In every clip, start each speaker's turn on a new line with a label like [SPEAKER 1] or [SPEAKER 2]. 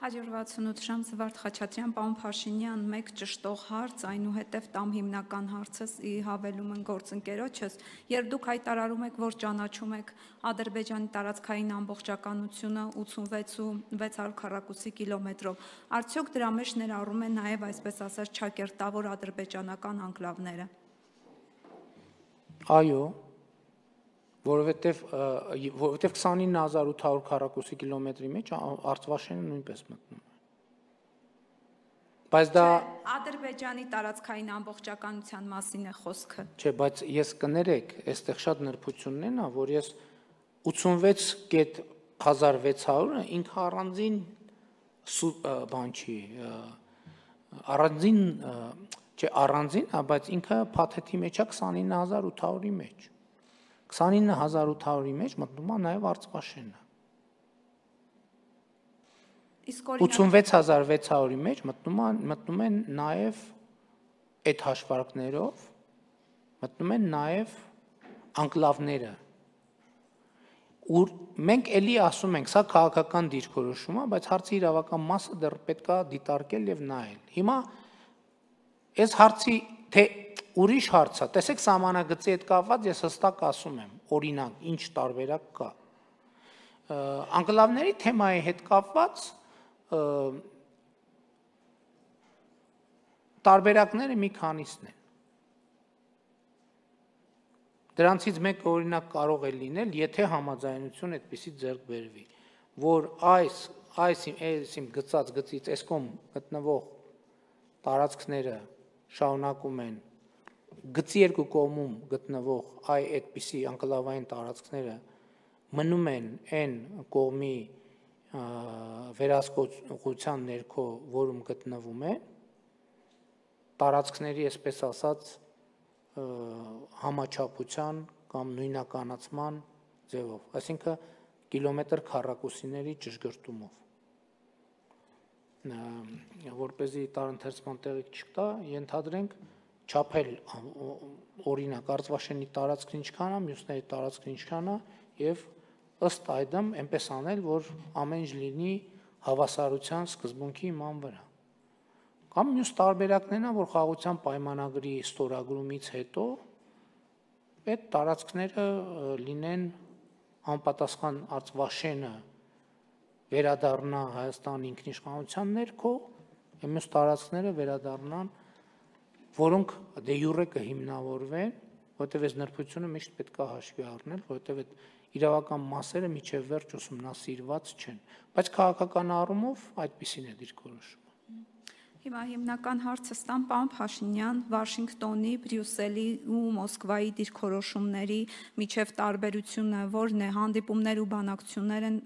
[SPEAKER 1] 168 ժամ Զվարթ Խաչատրյան, պարոն Փաշինյան, մեկ ճշտող հարց, այնուհետև տամ հիմնական հարցս հավելում են գործընկերոջս, երբ դուք հայտարարում եք, որ ճանաչում եք Ադրբեջանի տարածքային ամբողջականությունը 86,600 քառակուսի կիլոմետրով, արդյոք դրա մեջ ներառում են նաև այսպես ասած չակերտավոր ադրբեջանական անկլավները։
[SPEAKER 2] Այո, որովհետև 29800 քառակուսի կիլոմետրի մեջ Արցվաշենը նույնպես մտնում է։ Բայց դա
[SPEAKER 1] Ադրբեջանի տարածքային ամբողջականության մասին է խոսքը։
[SPEAKER 2] Չէ, բայց ես կներեք, այստեղ շատ նրբությունն են, որ ես 86,600-ը ինքը առանձին բան չի, առանձին, բայց ինքը փաթեթի մեջ է 29800-ի մեջ։ 29800-ի մեջ մտնում է նաև Արցվաշենը։ 86600-ի մեջ մտնում են նաև այդ հաշվարկներով, մտնում են նաև անկլավները։ Մենք էլի ասում ենք, սա քաղաքական դիրքորոշում է, բայց հարցի իրավական մասը դեռ պետք է դիտարկել եւ նայել։ Հիմա այս հարցի թե ուրիշ հարց է, տեսեք սահմանագծի հետ կապված ես հստակ ասում եմ, օրինակ, ինչ տարբերակ կա։ Անկլավների թեմայի հետ կապված տարբերակները մի քանիսն են։ Դրանցից մեկը օրինակ կարող է լինել, եթե համաձայնություն այդպեսի ձեռք բերվի, որ այս իմ գծած գծից այսքոմ գտնվող տարածքները շարունակում են գծի երկու կողմում գտնվող այդպիսի անկլավային տարածքները մնում են այն կողմի վերահսկողության ներքո, որում գտնվում են, տարածքների, այսպես ասած, համաչափության կամ նույնականացման ձևով, այսինքն կիլոմետր քառակուսիների ճշգրտումով։ Որպեսզի տարընթերցման տեղիք չկա, ենթադրենք չափել օրինակ Արցվաշենի տարածքն ինչքան է, մյուսների տարածքն ինչքան է եւ ըստ այդմ այնպես անել, որ ամեն ինչ լինի հավասարության սկզբունքի իման վրա։ Կամ մյուս տարբերակներն է, որ խաղաղության պայմանագրի ստորագրումից հետո այդ տարածքները լինեն անպատասխան Արցվաշենը վերադառնա Հայաստանի ինքնիշխանության ներքո, մյուս տարածքները վերադառնան, որոնք դե յուրե կհիմնավորվեն, որտեղ այս նրբությունը միշտ պետք է հաշվի առնել, որտեղ այդ իրավական մասերը միջև վերջ ուսումնասիրված չեն, բայց քաղաքական առումով այդպիսին է դիրքորոշումը։
[SPEAKER 1] Հիմա հիմնական հարցը ստամ պարոն Փաշինյան, Վաշինգտոնի, Բրյուսելի ու Մոսկվայի դիրքորոշումների միջև տարբերությունը որն է, հանդիպումներ ու բանակցություններ են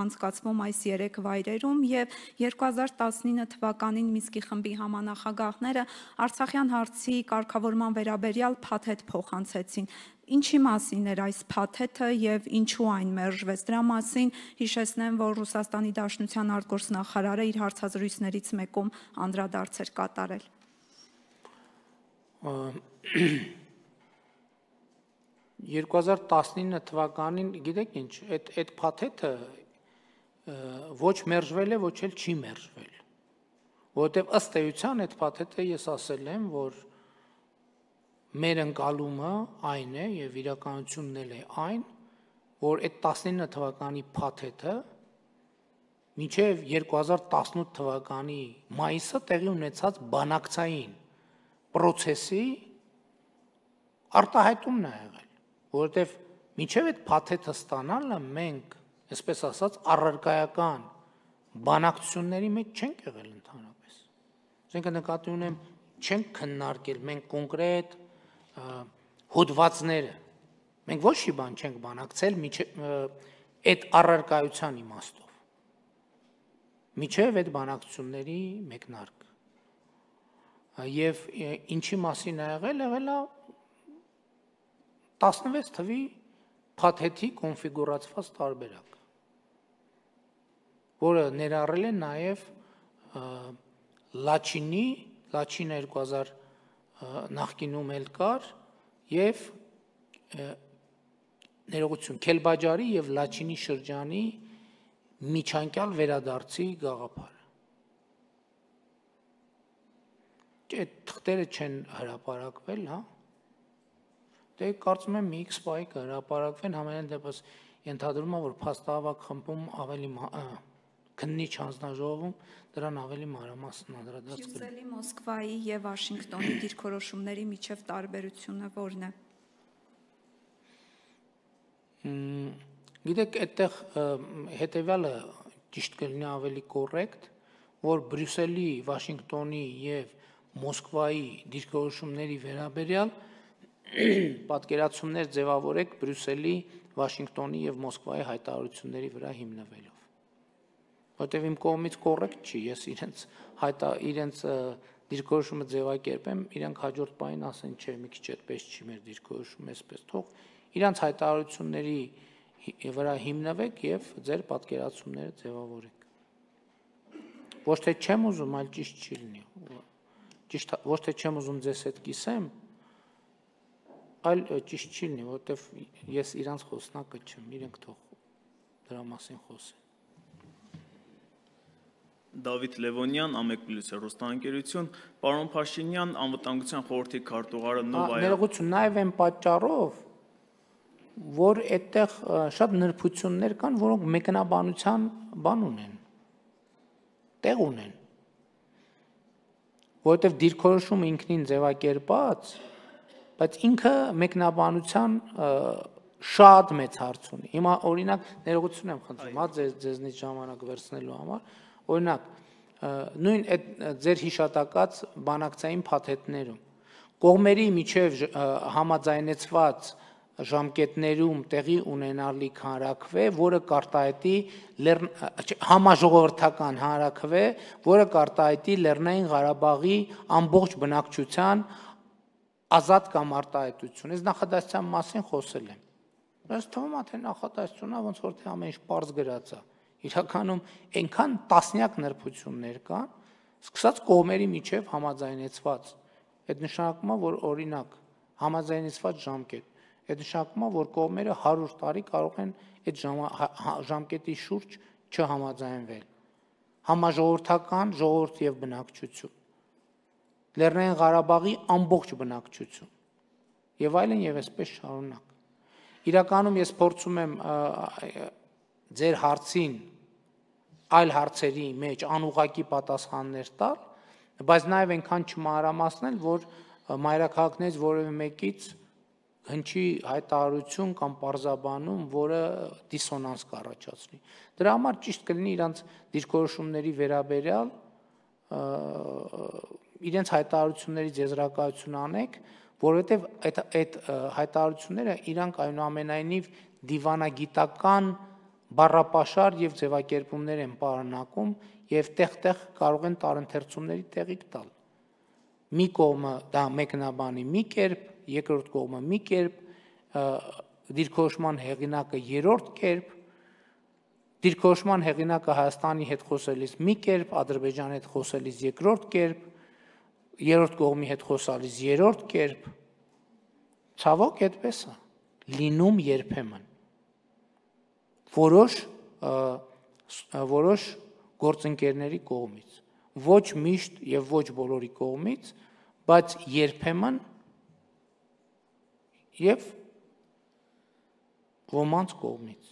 [SPEAKER 1] անցկացվում այս 3 վայրերում եւ 2019 թվականին Մինսկի խմբի համանախագահները Արցախյան հարցի կարգավորման վերաբերյալ փաթեթ փոխանցեցին։ Ինչի մասին էր այս փաթեթը եւ ինչու այն մերժվեց։ Դրա մասին հիշեցնեմ, որ Ռուսաստանի Դաշնության արտգործնախարարը իր հարցազրույցներից մեկում անդրադարձ էր կատարել։
[SPEAKER 2] 2019 թվականին, գիտեք ինչ, այդ փաթեթը ոչ մերժվել է, ոչ էլ չի մերժվել, որովհետև ըստ էության այդ փաթեթը ես ասել եմ, որ մեր ընկալումը այն է եւ իրականությունն էլ է այն, որ այդ 19 թվականի փաթեթը մինչև 2018 թվականի մայիսը տեղի ունեցած բանակցային process-ի արտահայտումն է եղել, որովհետև մինչև այդ փաթեթը ստանալը մենք, այսպես ասած, առարկայական բանակցությունների մեջ չենք եղել ընդհանրապես։ Այսինքն նկատի ունեմ, չենք քննարկել մենք կոնկրետ հոդվածները, մենք ոչ մի բան չենք բանակցել այդ առարկայության իմաստով, միջև այդ բանակցությունների մեկնարկը, և ինչի մասին է եղել է 16 թվի փաթեթի կոնֆիգուրացված տարբերակ, որը ներառել է նաև Լաչինի, Լաչինը 2000 նախկինում էլ կար և ներողություն, Քելբաջարի և Լաչինի շրջանի միջանկյալ վերադարձի գաղափարը։ Այդ թղթերը չեն հրապարակվել, հա։ Դե կարծում եմ մի X պահի կհրապարակվեն, համենայն դեպս ենթադրում եմ, որ փաստահավաք խմբում ավելի քննիչ հանձնաժողովում դրան ավելի մանրամասն անդրադարձ կլինի։
[SPEAKER 1] Բրյուսելի, Մոսկվայի եւ Վաշինգտոնի դիրքորոշումների միջև տարբերությունը ո՞րն է։
[SPEAKER 2] Գիտեք, այդտեղ հետեւյալը ճիշտ կլինի ավելի կոռեկտ, որ Բրյուսելի, Վաշինգտոնի եւ Մոսկվայի դիրքորոշումների վերաբերյալ պատկերացումներ ձևավորեք Բրյուսելի, Վաշինգտոնի եւ Մոսկվայի հայտարարությունների վրա հիմնվելով։ Որտեւ իմ կողմից կոռեկտ չի, ես իրենց դիրքորոշումը ձևակերպեմ, իրանք հաջորդ պահին ասեն, չէ, մի քիչ այդպես չի, մեր դիրքորոշումը էսպես թող իրանք հայտարարությունների վրա հիմնվեք եւ ձեր պատկերացումները ձևավորեք։ Ոչ թե չեմ ուզում, այլ ճիշտ չի լինի։ Ճիշտ ոչ թե չեմ ուզում ձեզ հետ կիսեմ, այլ ճիշտ չի լինի, որտեվ ես իրանց խոսնակը չեմ, իրենք թող դրա մասին խոսեն։
[SPEAKER 3] Դավիթ Լևոնյան, Ամեկ+, հեռուստաընկերություն, պարոն Փաշինյան, անվտանգության խորհրդի քարտուղարը Նովայա։
[SPEAKER 2] Ներողություն, նաև այն պատճառով, որ այդտեղ շատ նրբություններ կան, որոնք մեկնաբանության բան ունեն, տեղ ունեն, որովհետև դիրքորոշումը ինքնին ձևակերպած, բայց ինքը մեկնաբանության շատ մեծ հարց ունի։ Հիմա օրինակ ներողություն եմ խնդրում, հա ձեզնից ժամանակ վերցնելու համար, օրինակ նույն այդ ձեր հիշատակած բանակցային փաթեթներում կողմերի միջև համաձայնեցված ժամկետներում տեղի ունենալիք հանրաքվե, որը կարտահայտի համաժողովրդական հանրաքվե, որը կարտահայտի Լեռնային Ղարաբաղի ամբողջ բնակչության ազատ կամ արտահայտություն։ Այս նախադասության մասին խոսել եմ։ Բայց թվում է, թե նախադասությունը ոնց որ թե ամեն ինչ պարզ գրած է։ Իրականում այնքան տասնյակ նրբություններ կան, սկսած կողմերի միջև համաձայնեցված։ Այդ նշանակում է, որ օրինակ համաձայնեցված ժամկետ, այդ նշանակում է, որ կողմերը 100 տարի կարող են այդ ժամկետի շուրջ չհամաձայնվել։ Համաժողովրդական ժողովուրդ եւ բնակչություն, Լեռնային Ղարաբաղի ամբողջ բնակչություն եւ այլն եւ այսպես շարունակ։ Իրականում ես փորձում եմ ձեր հարցին այլ հարցերի մեջ անուղղակի պատասխաններ տալ, բայց նաև այնքան չմանրամասնել, որ մայրաքաղաքներից որևէ մեկից հնչի հայտարարություն կամ պարզաբանում, որը դիսոնանս կառաջացնի։ Դրա համար ճիշտ կլինի իրանց դիրքորոշումների վերաբերյալ իրենց հայտարարությունների ձեզրակացություն անեք, որովհետև այդ հայտարարությունները իրանք այնուամենայնիվ դիվանագիտական բառապաշար եւ ձևակերպումներ են պարունակում եւ տեղ-տեղ կարող են տարընթերցումների տեղիք տալ։ Մի կողմը դա մեկնաբանի մի կերպ, երկրորդ կողմը մի կերպ, դիրքորոշման հեղինակը երրորդ կերպ, դիրքորոշման հեղինակը Հայաստանի հետ խոսելիս մի կերպ, Ադրբեջանի հետ խոսելիս երկրորդ կերպ, երրորդ կողմի հետ խոսալիս երրորդ կերպ։ Ցավոք այդպես է լինում երբեմն։ Որոշ գործընկերների կողմից, ոչ միշտ եւ ոչ բոլորի կողմից, բայց երբեմն եւ ոմանց կողմից։